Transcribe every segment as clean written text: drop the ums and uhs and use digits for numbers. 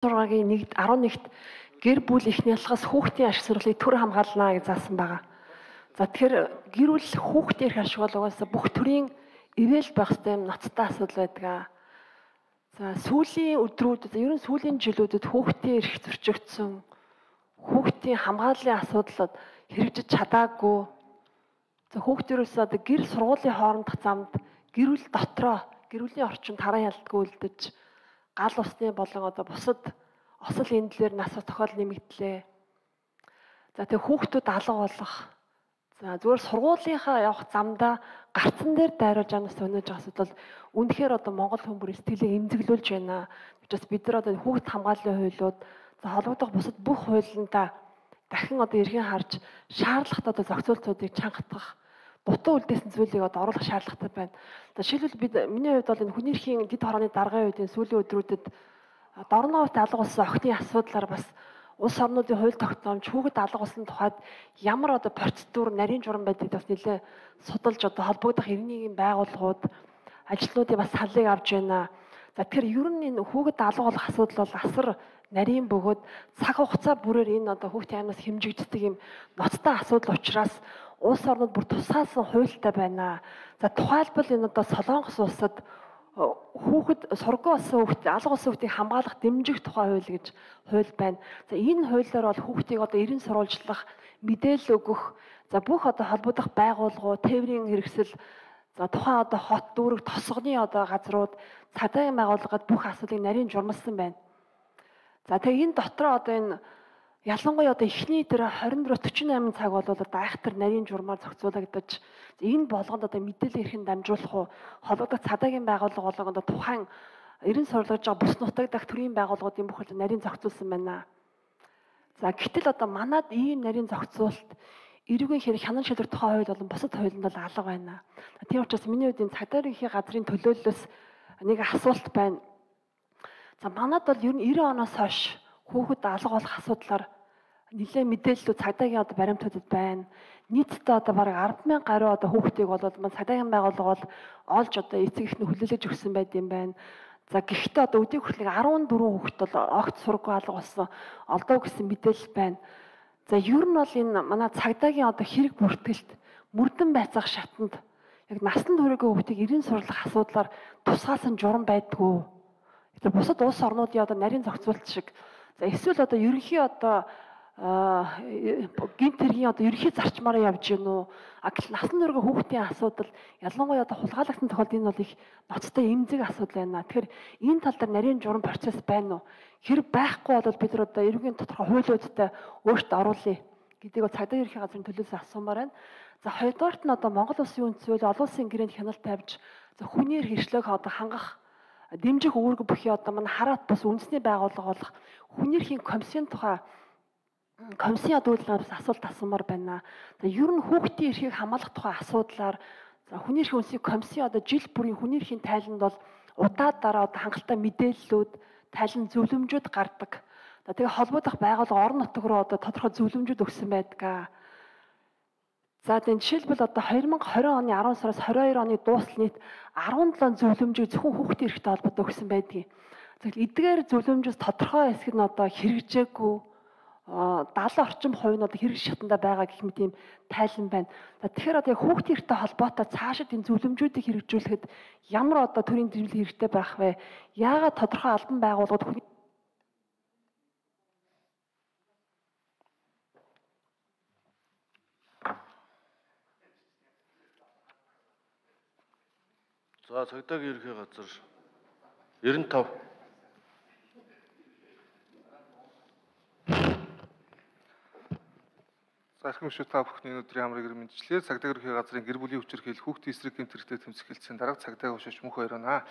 6-гийн 11-т гэр бүл эхний ялгаас хүүхдийн ашиг сургалтыг төр хамгаална гэж заасан байгаа. За тэгэхээр гэр бүл хүүхдийн эрх ашиг бол угаасаа бүх төрлийн ивэл байх ёстой юм ноцтой асуудал байдаг. За сүүлийн өдрүүдэд ер нь сүүлийн жилүүдэд хүүхдийн эрх зөрчигдсөн, хүүхдийн хамгааллын асуудлууд хэрэгжиж чадаагүй. За хүүхдэрээс одоо гэр сургуулийн хоорондох замд гэр бүл дотроо гэр бүлийн орчинд таран ялдаггүй үлдэж гал усны болон одоо бусад осол эндлэр нас тохиол нэмэгдлээ. За тэгээ хүүхдүүд алга болох. За зүгээр сургуулийнхаа явах замдаа гарцан дээр дайруулж амнаас өнөж байгаа асуудал үнэхээр одоо Монгол хүн бүрийн сэтгэлийг эмзэглүүлж байна. Тэгээс бид нар одоо хүүхд хамгааллын хуулиуд за холбогдох бусад бүх хуулиндаа дахин одоо эрхийн харж шаардлагатай одоо зохицуултуудыг чангатгах дутуу үлдээсэн зүйлийг одоо оруулах шаардлагатай байна. За жишээлбэл миний хувьд бол энэ хүний эрхийн дэд хорооны даргын үед сүүлийн өдрүүдэд дорноовт алга болсон охины асуудлаар бас улс орнуудын хууль тогтоомж хүүхэд алга болсон тухайд ямар одоо процедур нарийн журам байдгийг бас нэлээ судалж одоо холбогдох иргэний байгууллагууд ажилтнуудын бас саллыг авч байна. За тэгэхээр ер нь энэ хүүхэд алга болох асуудал бол асар нарийн бөгөөд цаг хугацаа бүрээр энэ одоо хүүхдийн аймнаас хэмжигддэг юм ноцтой асуудал учраас улс орнууд бүр тусгаалсан хуультай байна. За тухайлбал энэ одоо Солонгос улсад хүүхэд сургуу болсон хүүхэд алга болсон хүүхдийг хамгаалах дэмжих тухай хууль гэж хууль байна. За энэ хуулиар бол хүүхдийг одоо эрен сурвалжлах, мэдээлэл өгөх, за бүх одоо холбогдох байгууллагууд, тээврийн хэрэгсэл, за тухайн одоо хот дүүрэг тосгоны одоо газрууд, цагдаагийн байгууллагад бүх асуудлыг нарийн журмалсан байна. За тэгээ энэ дотроо одоо энэ ялангуяа одоо эхний дээр 24-48 цаг бол одоо айхтар нарийн журмаар зохицуулагдаж энэ болгонд одоо мэдээлэл эрхэн дамжуулах уу холбогдох цагдаагийн байгууллага болон одоо тухайн эрен сурлаж байгаа бус нутаг дах төрийн байгууллагуудын бүх хөл нарийн зохицуулсан байна. За гэтэл одоо манад ийм нарийн зохицуулалт эрүүгийн хэрэг хянан шилжих тухай хууль болон бусад хуулинд бол алга байна. Тийм учраас миний хувьд энэ цагдаагийн газрын төлөөллөөс нэг асуулт байна. За манад бол ер нь 90 оноос хойш хүүхэд алга болох асуудлаар нэлээд мэдээллүүд цагдаагийн одоо баримтуудад байна. Нийтдээ одоо бараг 10,000 гаруй одоо хүүхдийг бол маань цагдаагийн байгууллага бол олж одоо эцэг эхнээ хүлээлгэж өгсөн байт юм байна. За гэхдээ одоо өдийг хүртэл 14 хүүхэд бол огт сургуу алга болсон олдоо гэсэн мэдээлэл байна. За ер нь бол энэ манай цагдаагийн одоо хэрэг бүртгэлт мөрдөн байцаах шатанд яг насан туршийн хүүхдийг эрен сурлах асуудлаар тусгаалсан журам байдгүй. Тэгэхээр бусад улс орнуудын одоо нарийн зохицуулалт шиг за эсвэл одоо ерөнхий одоо гинт хэргийн одоо ерөнхий зарчмаараа явж гин үү? Гэтэл насан туршийн хүүхдийн асуудал ялангуяа одоо хулгайлагдсан тохиолдолд энэ бол их ноцтой эмзэг асуудал байна. Тэгэхээр энэ тал дээр нарийн журам процесс байна уу? Хэрэг байхгүй бол бид нар одоо эрүүгийн тодорхой хуулиудтай өөрчлөлт оруулъя гэдгийг бол цагдаагийн ерөнхий газрын төлөөс асуумаар байна. За хоёрдугаарт нь одоо Монгол Улсын үндэс хууль олон улсын гэрээнд хяналт тавьж за хүний эрх эрхлөөг одоо хангах дэмжих үүрэг бүхий одоо манай хараат бус үндэсний байгууллага болох хүний эрхийн комиссийн тухай комиссийн удирдлагаас асуулт асуумаар байна. За ер нь хүүхдийн эрхийг хамгаалах тухай асуудлаар за хүний эрхийн үндэсний комиссийн одоо жил бүрийн хүний эрхийн тайланд бол удаа дараа одоо хангалттай мэдээллүүд, тайлан зөвлөмжүүд гардаг. За тэгээ холбогдох байгууллага орон нутаг руу одоо тодорхой зөвлөмжүүд өгсөн байдаг. За тийм жишээлбэл одоо 2020 оны 10 сараас 22 оны дуустал нийт 17 зөвлөмжийг зөвхөн хүүхдийн эрхтэй холбоотой өгсөн байдгийг. Тэгэхээр эдгээр зөвлөмжөөс тодорхой хэсэг нь одоо хэрэгжээгүй 70 орчим хувь нь одоо хэрэгжих шатанда байгаа гэх мэт ийм тайлан байна. За тэгэхээр одоо хүүхдийн эрхтэй холбоотой цаашид энэ зөвлөмжүүдийг хэрэгжүүлэхэд ямар одоо төрийн дэмжлэг хэрэгтэй байх вэ? Яагаад тодорхой албан байгууллагууд За цагдаагийн ерхий газар 95 Зархим шүү та бүхний өдрийн амрыг мэдчлээ. Цагдаагийн ерхий газрын гэр бүлийн хүчирхийлэл хүүхдийн эсрэг гэмт хэрэгтэй тэмцэх хэлтсийн дарга цагдаагийн ушиж мөнх хоёроо.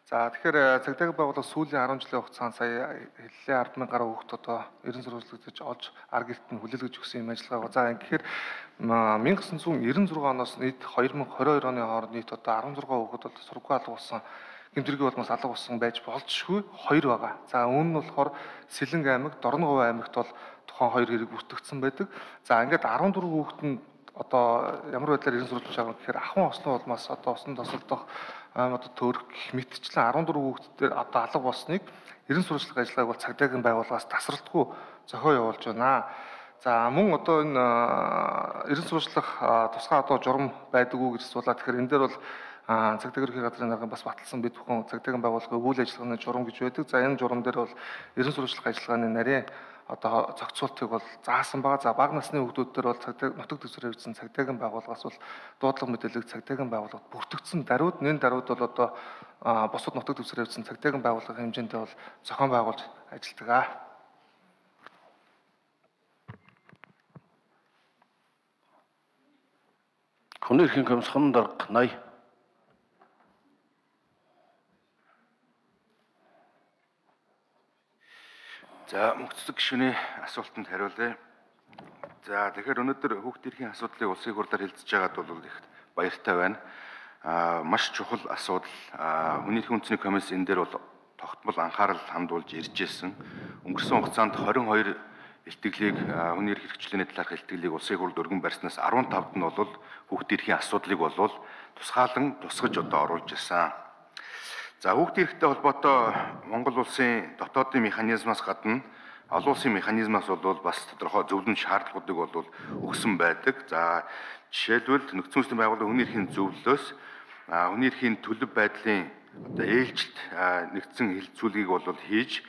За тэгэхээр цагдаагийн байгууллага сүүлийн 10 жилийн хугацаанд сая хэллээ 10,000 гаруй хүүхд одоо эрен сурвалжлагдаж олж ар гэрт нь хүлээлгэж өгсөн юм ажиллагаа. За тэгэхээр 1996 оноос нийт 2022 оны хооронд нийт одоо 16 хүүхэд бол сургуу алга болсон гэмтэргийн улмаас алга болсон байж болзошгүй 2 байгаа. За үүн нь болохоор Сэлэнг аймаг, Дорноговь аймагт бол тухайн 2 хэрэг бүртгэгдсэн байдаг. За ингээд 14 хүүхэд нь одоо ямар байдлаар эрен сурвалж байгаа гэхээр ахын ослон улмаас одоо усан тосолдох одоо төрөх гэх мэтчлэн 14 хүүхдээр одоо алга болсныг ерэн сурвалжлах ажиллагааг бол цагдаагийн байгууллагаас тасралтгүй зохио явуулж байна. За мөн одоо энэ ерэн сурвалжлах тусгай одоо журам байдаггүй гэж асуулаа. Тэгэхээр энэ дээр бол цагдаагийн ерөнхий газрын даргын бас баталсан бид бүхэн цагдаагийн байгууллагын үйл ажиллагааны журам гэж байдаг. За энэ журам дээр бол ерэн сурвалжлах ажиллагааны нарийн одоо зохицуултыг бол заасан байгаа. За бага насны хүүхдүүд дээр бол нутаг дэвсгэр хэрэгжсэн цагдаагийн байгууллагаас бол дуудлага мэдээлэл цагдаагийн байгууллагад бүртгэгдсэн даруйд энэ даруйд бол одоо бусад нутаг дэвсгэр хэрэгжсэн цагдаагийн байгууллагын хэмжээндээ бол зохион байгуулж ажилладаг. Хүний эрхийн комиссын дарга 80. За мөнхцөг гишүүний асуултанд хариулъя. За тэгэхээр өнөөдөр хүүхдийн эрхийн асуудлыг улсын хурлаар хэлцэж байгаад бол их баяртай байна. Маш чухал асуудал. Хүний эрхийн үндэсний комисс энэ дээр бол тогтмол анхаарал хандуулж ирж байсан. Өнгөрсөн хугацаанд 22 илтгэлийг хүний эрх хэрэгжлээний талаарх илтгэлийг улсын хурлд өргөн барьснаас 15-д нь бол хүүхдийн эрхийн асуудлыг бол тусгаалan тусгаж одоо оруулж ирсэн. За хүүхдийн эрхтэй холбоотой Монгол улсын дотоодын механизмаас гадна олон улсын механизмаас бол бас тодорхой зөвлөмж шаардлагуудыг бол өгсөн байдаг. За жишээлбэл нөхцөл байдлын байгууллагын хүний эрхийн зөвлөлөөс хүний эрхийн төлөв байдлын одоо ээлжилт нэгдсэн хилцүүлгийг бол хийж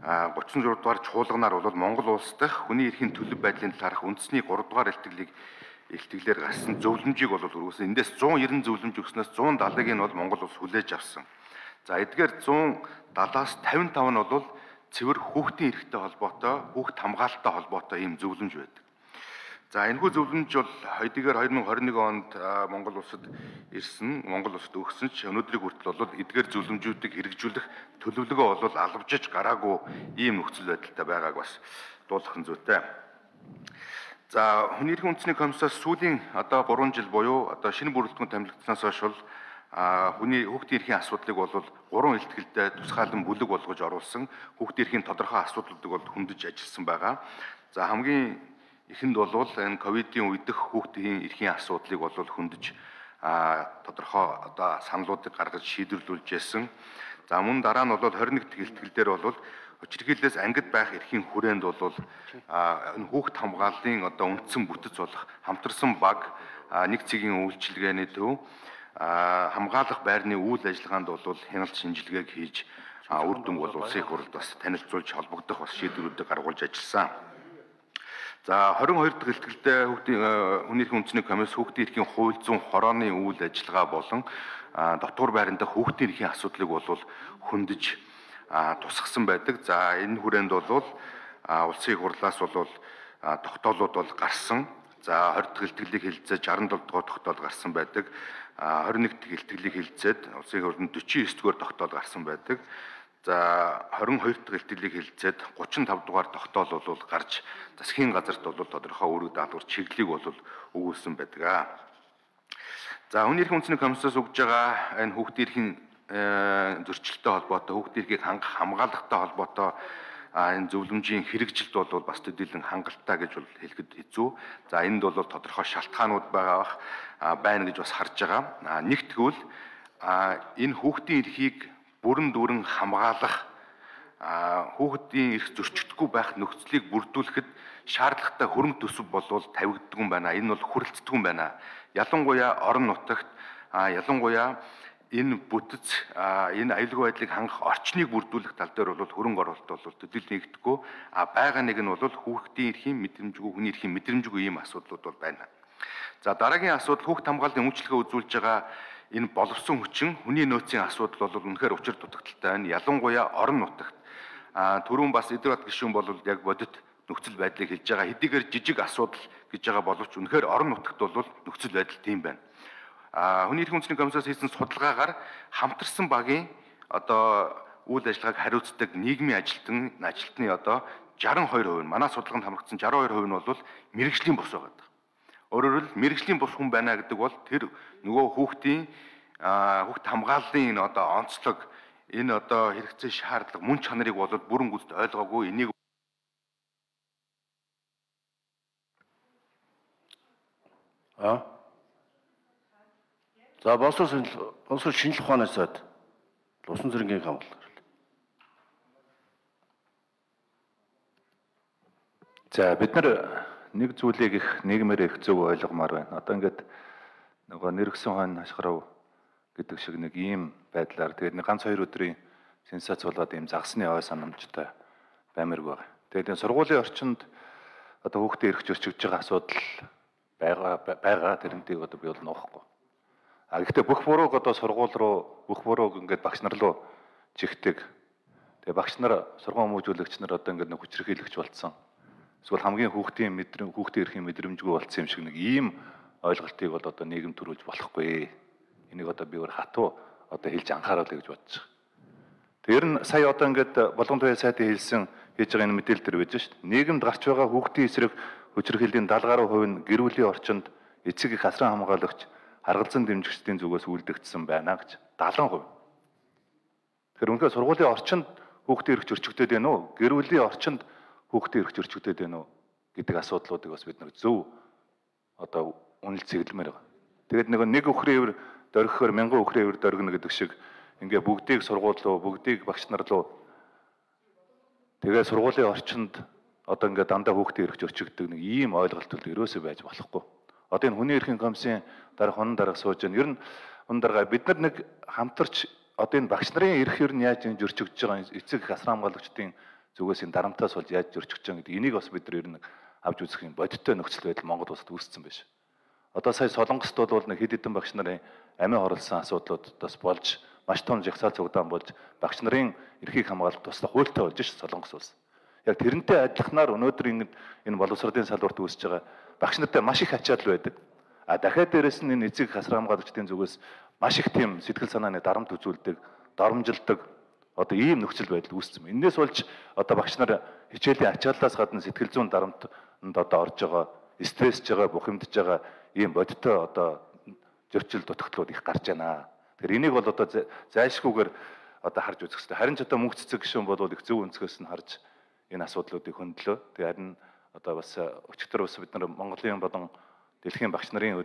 36 дугаар чуулганаар бол Монгол улс дахь хүний эрхийн төлөв байдлын талаарх үндэсний 3 дугаар илтгэлээр гарсан зөвлөмжийг бол өргөсөн. Эндээс 190 зөвлөмж өгснөөс 170-ыг нь бол Монгол улс хүлээж авсан. За эдгээр 170-аас 55 нь бол цэвэр хүүхдийн эрхтэй холбоотой, хүүхд хамгаалалттай холбоотой ийм зөвлөмж байдаг. За энэхүү зөвлөмж бол хэдийгээр 2021 онд Монгол улсад ирсэн, Монгол улсад өгсөн ч өнөөдрийг хүртэл бол эдгээр зөвлөмжүүдийг хэрэгжүүлэх төлөвлөгөө бол албажиж гараагүй ийм нөхцөл байдалтай байгааг бас дуулах нь зүйтэй. За хүний эрхийн үндэсний комиссаас сүүлийн одоо 3 жил буюу одоо шинэ бүрэлдэхүүн тамилагдсанаас хойш бол хүний хүүхдийн эрхийн асуудлыг бол 3 илтгэлдээ тусгаалan бүлэг болгож оруулсан. Хүүхдийн эрхийн тодорхой асуудлуудыг бол хөндөж ажилласан байгаа. За хамгийн эхэнд бол энэ ковидын үедх хүүхдийн эрхийн асуудлыг бол хөндөж тодорхой одоо саналуудыг гаргаж шийдвэрлүүлж байсан. За мөн дараа нь бол 21 дэх илтгэлдэр бол хүчирхийллээс ангид байх эрхийн хүрээнд бол энэ хүүхд хамгааллын одоо үндсэн бүтэц болох хамтарсан баг нэг цэгийн үйлчилгээний төв хамгаалах байрны үйл ажиллагаанд бол хяналт шинжилгээг хийж үр дүн бол улсын хурлд бас танилцуулж холбогдох бас шийдвэрүүдийг гаргуулж ажилласан. За 22 дахь илтгэлдээ хүний эрхийн үндэсний комисс хүүхдийн эрхийн хууль зүйн хорооны үйл ажиллагаа болон дотгор байран дахь хүүхдийн эрхийн асуудлыг бол хөндөж тусгасан байдаг. За энэ хүрээнд бол улсын хурлаас бол тогтоолууд бол гарсан. За 20 дахь илтгэлийг хэлэлцээж 67 дугаар тогтоол гарсан байдаг. 21 дахь илтгэлийг хэлэлцээд улсын хурлын 49 дугаар тогтоол гарсан байдаг. За 22 дахь илтгэлийг хэлэлцээд 35 дугаар тогтоол бол гарч засгийн газарт бол тодорхой үүрэг даалгавар чиглэлийг бол өгүүлсэн байдаг. За хүний эрхийн үндэсний комиссаас өгж байгаа энэ хүүхдийн эрхийн зөрчилтэй холбоотой, хүүхдийн эрхийг хангах хамгаалалттай холбоотой энэ зөвлөмжийн хэрэгжилт бол бас төдийлөн хангалттай гэж бол хэлэхэд хэцүү. За энд бол тодорхой шалтгаанууд байна гэж бас харж байгаа. Нэгтгүүл энэ хүүхдийн эрхийг бүрэн дүүрэн хамгаалах, хүүхдийн эрх зөрчигдөхгүй байх нөхцөлийг бүрдүүлэхэд шаардлагатай хөрөнгө төсөв бол тавигддаг юм байна. Энэ бол хүрэлцдэг юм байна. Ялангуяа орон нутагт, ялангуяа энэ бүтэц энэ аюулгүй байдлыг хангах орчныг бүрдүүлэх тал дээр бол хөрөнгө оруулалт бол төдийлөн нэгдэхгүй. Байгаа нэг нь бол хүүхдийн эрхийн мэдрэмжгүй, хүний эрхийн мэдрэмжгүй ийм асуудлууд бол байна. За дараагийн асуудал хүүхд хамгааллын үйлчилгээ үзүүлж байгаа энэ боловсон хүчин, хүний нөөцийн асуудал бол үнэхээр учир дутагдaltaй байна. Ялангуяа орон нутагт түрүүн бас Эдвард гишүүн бол яг бодит нөхцөл байдлыг хэлж байгаа. Хэдийгээр жижиг асуудал гэж байгаа боловч үнэхээр орон нутагт бол нөхцөл байдал тийм байна. Хүний эрхийн үндэсний комиссаас хийсэн судалгаагаар хамтарсан багийн одоо үйл ажиллагааг хариуцдаг нийгмийн ажилтны одоо 62% нь манай судалгаанд хамрагдсан 62% нь бол мэрэгжлийн бус байгаа. Өөрөөр хэлбэл мэрэгжлийн бус хүн байна гэдэг бол тэр нөгөө хүүхдийн хүүхд хамгааллын энэ одоо онцлог, энэ одоо хэрэгцээ шаардлага, мөн чанарыг бол бүрэн гүйцэд ойлгоогүй. Энийг За боловсрол шинжлэх ухааны сайд усан цэргийн хамгаалал. За бид нар нэг зүйлийг их нийгмээр их зөв ойлгомоор байна. Одоо ингээд нөгөө нэрвсэн хойно хашгирав гэдэг шиг нэг ийм байдлаар тэгээд нэг ганц 2 өдрийн сенсац болоод ийм загсны ой санамжтай баймирг байна. Тэгээд энэ сургуулийн орчинд одоо хүүхдээ эргэж өрчөж байгаа асуудал байгаа тэрнтийг одоо би бол нуухгүй. А гэхдээ бүх бурууг одоо сургууль руу бүх бурууг ингээд багш нар руу жигдэг. Тэгээ багш нар сургууль хүмүүжүүлэгч нар одоо ингээд нэг хүчирхийлэгч болцсон. Эсвэл хамгийн хүүхдээ эрхийн мэдрэмжгүй болцсон юм шиг нэг ийм ойлголтыг бол одоо нийгэм төрүүлж болохгүй. Энийг одоо би өөр хатуу одоо хэлж анхааруулъя гэж бодож байгаа. Тэр нь сая одоо ингээд болгон туяа сайтын хэлсэн хийж байгаа энэ мэдээлэл төр байж шүү дээ. Нийгэмд гарч байгаа хүүхдийн эсрэг хүчирхийллийн 70% нь гэр бүлийн орчинд эцэг их асран хамгаалагч харгалзан дэмжигчдийн зүгээс үлдэгдсэн байна гэж 70%. Тэгэхээр үнэхээр сургуулийн орчинд хүүхдээ эргэж өрчөгдөд байна уу? Гэр бүлийн орчинд хүүхдээ эргэж өрчөгдөд байна уу гэдэг асуудлуудыг бас бид нэг зөв одоо үнэлж цэглэмээр байгаа. Тэгээд нэг өхрийн өвөр дөргөхөөр 1000 өхрийн өвөр дөргөнө гэдэг шиг ингээ бүгдийг сургууль руу, бүгдийг багш нар руу тэгээд сургуулийн орчинд одоо ингээ дандаа хүүхдээ эргэж өрчөгдөг нэг ийм ойлголт бол ерөөсөө байж болохгүй. Одоо энэ хүний эрхийн комиссийн дарга хонон дарга сууж байна. Ер нь хонон дарга бид нар нэг хамтарч одоо энэ багш нарын эрх ер нь яаж энэ зөрчигдөж байгаа эцэг их асран хамгаалагчдын зүгээс энэ дарамтаас болж яаж зөрчигдөж байгаа гэдэг энийг бас бид нар ер нь авч үзэх юм бодиттой нөхцөл байдал Монгол улсад үүссэн байж. Одоо сая Солонгост бол нэг хэд хэдэн багш нарын амиа хорлсон асуудлууд бас болж маш том жагсаал цугдаан болж багш нарын эрхийг хамгаалах туслах хуультай болж ш Солонгос улс. Яг тэрнтэй адилханаар өнөөдөр энэ боловсролын салбарт үүсэж байгаа багш нартай маш их ачаал байдаг. А дахиад дээрэс нь энэ эцэг хасран хамгаалагчдын зүгээс маш их тийм сэтгэл санааны дарамт үзүүлдэг, доромжилдог одоо ийм нөхцөл байдал үүссэн. Энээс болж одоо багш нар хичээлийн ачааллаас гадна сэтгэл зүйн дарамтанд одоо орж байгаа, стрессж байгаа, бухимдж байгаа ийм бодиттой одоо зөрчил дутагдлууд их гарч байна. Тэгэхээр энийг бол одоо зайлшгүйгээр одоо харж үзэх хэрэгтэй. Харин ч одоо мөнх цэцэг гишүүн бол их зөв өнцгөөс нь харж энэ асуудлуудыг хөндлөө. Тэгээ харин одоо бас өчигдөр бас бид нар Монголын болон дэлхийн багш нарын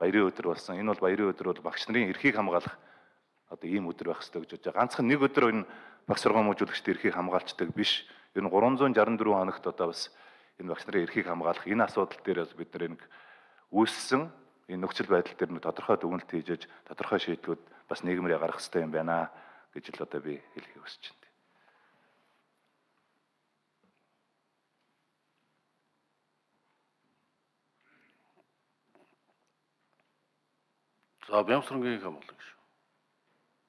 баярын өдөр болсон. Энэ бол баярын өдөр бол багш нарын эрхийг хамгаалах одоо ийм өдөр байх хэрэгтэй гэж бодож байгаа. Ганцхан нэг өдөр энэ багш сургууль хүмүүжүүлэгчдийн эрхийг хамгаалцдаг биш. Ер нь 364 хоногт одоо бас энэ багш нарын эрхийг хамгаалах энэ асуудал дээр бас бид нар нэг үүссэн энэ нөхцөл байдал дээр нэг тодорхой дүгнэлт хийж тодорхой шийдлүүд бас нийгэмрээ гаргах хэрэгтэй юм байна гэж л одоо би хэлхийг хүсэж байна. За Бямсрангийн хамгаалал гэж.